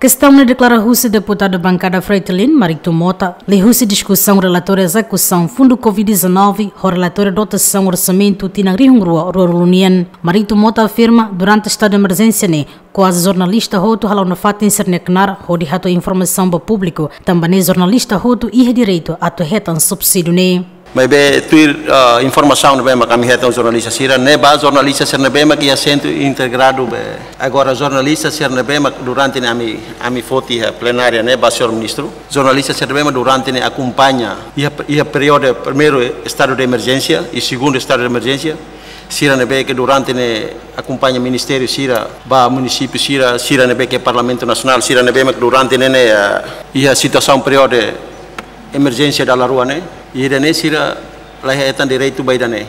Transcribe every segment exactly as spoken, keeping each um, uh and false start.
Kestaun ne'e deklara husi deputadu bankada Fretilin, Marito Mota, liuhusi diskusaun relatóriu ezekusaun fundu covid dezanove, ho relatóriu dotasaun orsamentu tinan rihun rua ruanulu nian. Marito Mota afirma, durante estadu de emerjénsia ne'e, kuaze jornalista hotu hala'o nafatin sira-nia knaar hodi hato'o informasaun ba públiku, tanba ne'e jornalista hotu iha direitu atu hetan subsídiu ne'e. Maibé tuir, ah, informasaun ne'ebé mak ami hetan jornalista sira, ne'ebá jornalista sira ne'ebé mak iha sentru integradu be. Agora jornalista sira ne'ebé mak durante ne'e ami, ami foti iha plenária ne'e ba señór ministru. Jornalista sira ne'ebé mak durante ne'e akompaña iha, iha períodu primeiru estadu de emerjénsia i segundu estadu de emerjénsia. Sira ne'ebé ke durante ne'e akompaña ministériu sira ba munisípiu sira, sira ne'ebé ke Parlamentu Nasionál, sira ne'ebé mak durante ne'e, ne'e, ah, iha situasaun períodu emerjénsia dala rua ne'e, ida-ne'e sira la hetan direitu ba ida-ne'e.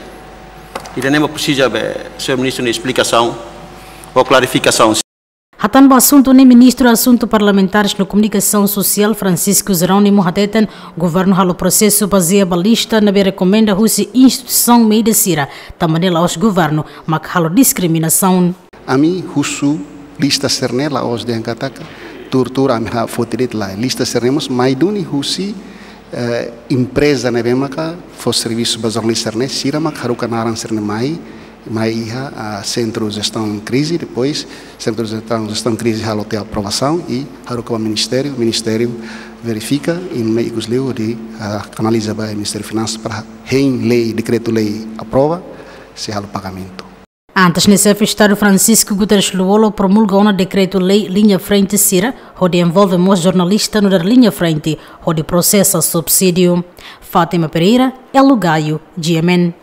Ida-ne'e mak presiza be señór ministru nia esplikasaun ou klarifikasaun. Hatán ba asuntu ne'e, Ministru Asuntu Parlamentares no Komunikasaun Sosiál Francisco Jerónimo hateten, governu halo prosesu bazeia ba lista ne'ebé rekomenda husi instituisaun média sira, tanba ne'e la'ós governu mak halo diskriminasaun. Ami husu lista sira-ne'e la'ós dehan katak tuur-tuur ami ha foti de'it, lae. Lista sira-ne'e mós mai duni husi, eh, empreza ne'ebé maka fó servisu ba jornalista sira-ne'e, sira mak haruka naran sira-ne'e mai, mai iha, ah, sentru jestaun krize, depois sentru jestaun, jestaun krize halo tiha aprovasaun i haruka ba ministériu, ministériu verifika i mai ikus liu hodi, ah, kanaliza ba Ministériu Finansas para hein lei, dekretu-lei aprova, sei halo pagamentu. Antes ne'e, Xefe Estadu Francisco Guterres Lú-Olo promulga ona dekretu-lei liña frente sira, hodi envolve mós jornalista nu'udar liña frente, hodi prosesa subsídiu. Fátima Pereira, Elo Gaio, G M N.